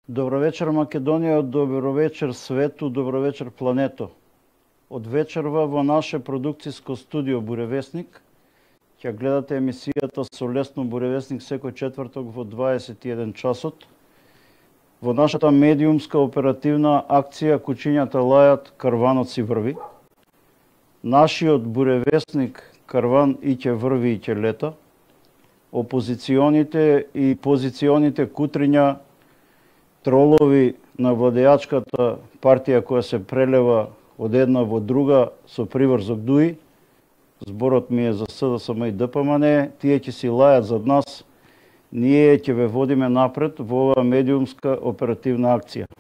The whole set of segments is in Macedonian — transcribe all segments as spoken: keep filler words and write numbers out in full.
Добро вечер Македонија, добро вечер свету, добро вечер плането. Од вечерва во наше продукцијско студио Буревесник ќе гледате емисијата со Лесно Буревесник секој четврток во дваесет и еден часот. Во нашата медиумска оперативна акција Кучињата лајат, карванот си врви. Нашиот Буревесник карван и ќе врви и ќе лета. Опозиционите и позиционите кутриња, тролови на владеачката партија која се прелева од една во друга со приврзок дуи, зборот ми е за СДСМ и ДПМН, тие ќе си лајат зад нас, ние ќе ве водиме напред во оваа медиумска оперативна акција.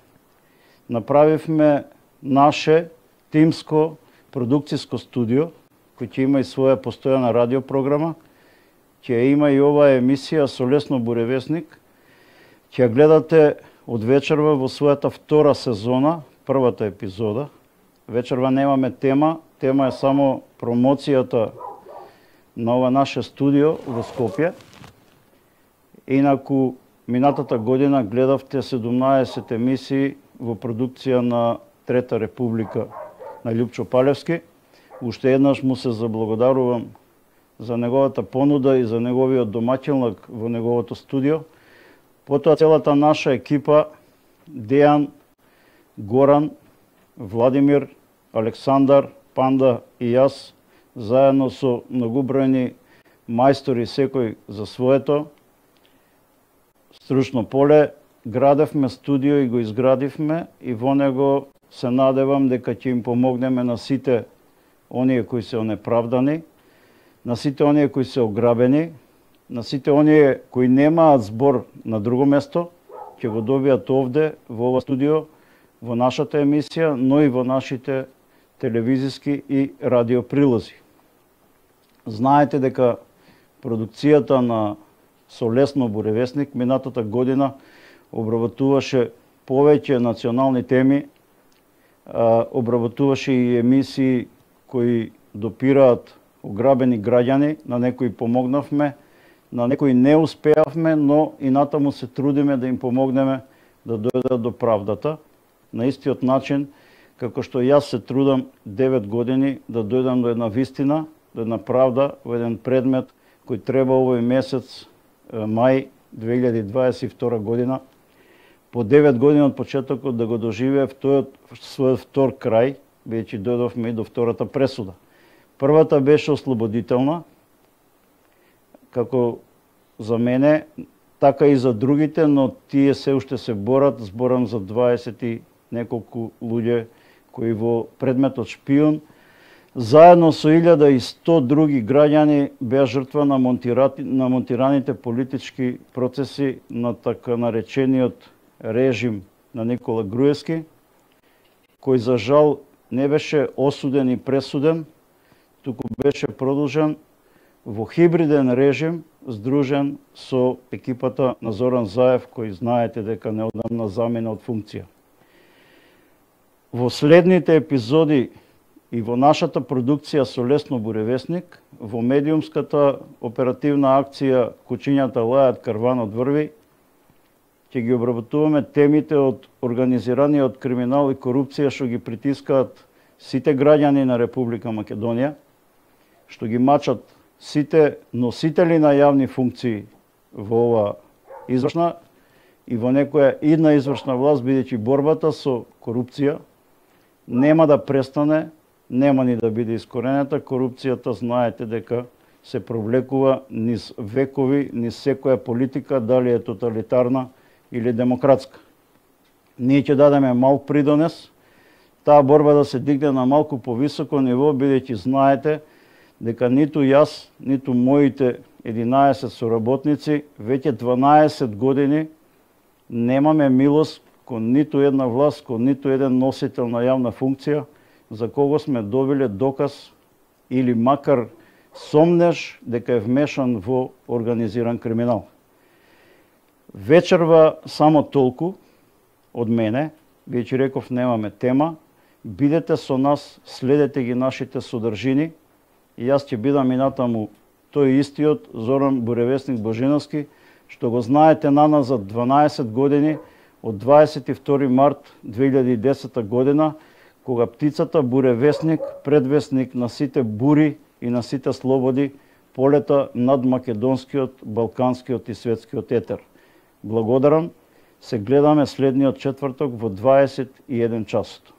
Направивме наше тимско продукцијско студио, кој ќе има и своја постојана радиопрограма, ќе има и оваа емисија со Лесно Буревесник, ќе гледате од вечерва во својата втора сезона, првата епизода. Вечерва немаме тема, тема е само промоцијата на ова наше студио во Скопје. Инаку, минатата година гледавте седумнаесет емисии во продукција на Трета Република на Љупчо Палевски. Уште еднаш му се заблагодарувам за неговата понуда и за неговиот домаќинлак во неговото студио. Потоа целата наша екипа, Дејан, Горан, Владимир, Александар, Панда и јас, заедно со многубројни мајстори секој за своето стручно поле, градевме студио и го изградивме и во него се надевам дека ќе им помогнеме на сите оние кои се онеправдани, на сите оние кои се ограбени, на сите оние кои немаат збор на друго место, ќе го добијат овде, во ова студио, во нашата емисија, но и во нашите телевизиски и радиоприлози. Знаете дека продукцијата на со Лесно Буревесник минатата година обработуваше повеќе национални теми, обработуваше и емисии кои допираат ограбени граѓани, на некои помогнавме, на некои не успеавме, но и натаму се трудиме да им помогнеме да дојдат до правдата. На истиот начин, како што јас се трудам девет години да дојдам до една вистина, до една правда, во еден предмет кој треба овој месец, мај две илјади дваесет и втора година, по девет години од почетокот да го доживеев тој својот втор крај, бидејќи дојдовме и до втората пресуда. Првата беше ослободителна, како за мене, така и за другите, но тие се уште се борат, зборам за дваесет и неколку луѓе кои во предметот шпион, заедно со илјада и сто други граѓани беа жртва на, на монтираните политички процеси на така наречениот режим на Никола Груевски, кој за жал не беше осуден и пресуден, туку беше продолжен во хибриден режим, здружен со екипата на Зоран Заев, кој знаете дека неодамна замина од функција. Во следните епизоди и во нашата продукција со Лесно Буревесник, во медиумската оперативна акција Кучињата лајат, карванот врви, ќе ги обработуваме темите од организираниот криминал и корупција што ги притискаат сите граѓани на Република Македонија, што ги мачат сите носители на јавни функции во ова извршна и во некоја идна извршна власт, бидејќи борбата со корупција нема да престане, нема ни да биде искоренета. Корупцијата знаете дека се провлекува низ векови, низ секоја политика, дали е тоталитарна или демократска. Ние ќе дадеме малку придонес, таа борба да се дигне на малку повисоко ниво, бидејќи знаете дека ниту јас, ниту моите единаесет соработници веќе дванаесет години немаме милост кон ниту една власт, кон ниту еден носител на јавна функција, за кого сме добиле доказ или макар сомнеж дека е вмешан во организиран криминал. Вечерва само толку од мене, бидејќи реков немаме тема, бидете со нас, следете ги нашите содржини, и јас ќе бидам и натаму тој истиот Зоран Буревесник Божиновски, што го знаете на нас за дванаесет години, од дваесет и втори март две илјади и десета година, кога птицата буревесник, предвесник на сите бури и на сите слободи, полета над македонскиот, балканскиот и светскиот етер. Благодарам, се гледаме следниот четврток во дваесет и еден часот.